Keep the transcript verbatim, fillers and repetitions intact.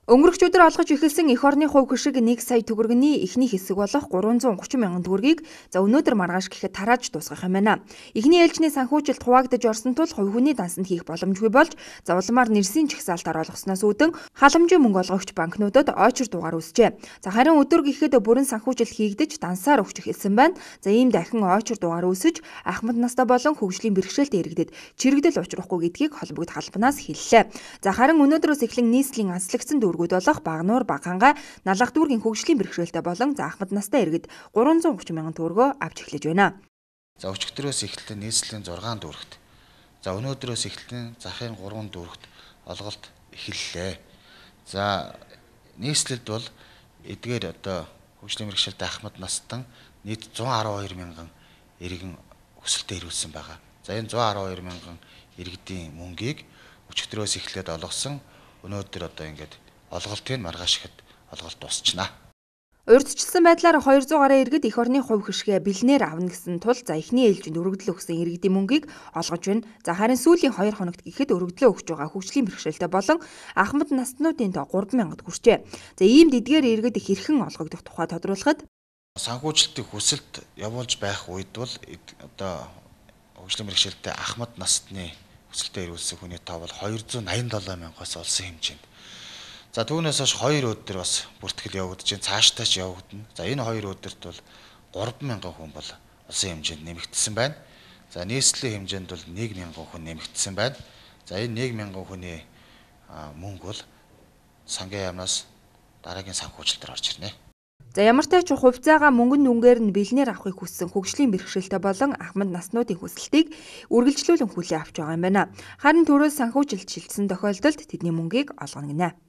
Өнгөрөх өдөр олгож эхэлсэн эх орны хувь хишиг нэг сая төгрөгийн эхний хэсэг болох гурван зуун гурван мянган төгрөгийг за өнөөдөр маргааш гэхэд тарааж дуусгах юм байна. Эхний ээлжний санхүүжилт хуваагдаж орсон тул хувь хүний дансанд хийх боломжгүй болж за улмаар нэрсийн чагсаалтаар олгосноос үүдэн халамжийн мөнгө олгогч банкнуудад ойчир дугаар үүсжээ. За харин өдөр гэхэд бүрэн санхүүжилт хийгдэж дансаар өгч эхэлсэн байна. За ийм дахин ойчир дугаар үүсэж ахмад настай болон хөгжлийн бэрхшээлтэй иргэдэд чирэгдэл учрахгүй гэдгийг холбогд халбанаас хэллээ. За харин өнөөдрөөс эхлэн нийслэлийн анслагдсан дүүргүүд болох Багнуур, Багхангаа, Налах дүүргийн хөгжлийн бэрхшээлтэй болон за ахмад настай иргэд гурван зуун гурван мянган төгрөгөө авч эхлэж байна. За өчигдрөөс эхлэн нийслэлийн зургаан дүүрэгт. За өнөөдрөөс эхлэн захын гурван дүүрэгт олголт эхэллээ. За нийслэлд бол эдгээр одоо хөгжлийн бэрхшээлтэй ахмад настан нийт зуун арван хоёр мянган иргэн өсөлтөд ирүүлсэн байгаа. За энэ зуун арван хоёр мянган иргэдийн мөнгийг өчигдрөөс эхлээд олгосон. Өнөөдөр одоо ингээд олголтын маргааш ихэд олголт дуусчихна. Урьдчилсан байдлаар хоёр зуун гаруй иргэд эх орны хувь хишгээ бэлнээр авна гэсэн тул за эхний ээлжинд өргөдлөө өгсөн иргэдийн мөнгийг олгож байна. За харин сүүлийн хоёр хоногт гэхэд өргөдлөө өгч байгаа хөгжлийн бэрхшээлтэй болон ахмад наснуудын тоо гурван мянгад хүрчээ. За ийм дэдгээр иргэд хэрхэн олгогдох тухай тодруулахад санхүүжилтийн хүсэлт явуулж байх үед бол одоо хөгжлийн бэрхшээлтэй ахмад насны хүсэлтэд ирүүлсэн хүний тоо бол хоёр зуун найман долоо мянгаас олсон хэмжээнд. За түүнээс хойш хоёр өдөр бас бүртгэл явагдаж байна. Цаашдаа ч явагдана. За энэ хоёр өдөрт бол гурван мянган хүн бол олсон хэмжээнд нэмэгдсэн байна. За нийслэлийн хэмжээнд бол нэг мянган хүн нэмэгдсэн байна. За энэ нэг мянган хүний мөнгө бол сангийн яамнаас дараагийн санхүүжилтээр орж ирнэ. За ямар ч тач хувьцаагаа мөнгөн дүнгээр нь бэлнээр авахыг хүссэн хөгжлийн бэрхшээлтэй болон ахмад наснуудын хүсэлтийг үргэлжлүүлэн хүлээн авч байгаа юм байна. Харин төрөөс санхүүжилт шилжсэн тохиолдолд тэдний мөнгийг олгоно гинэ.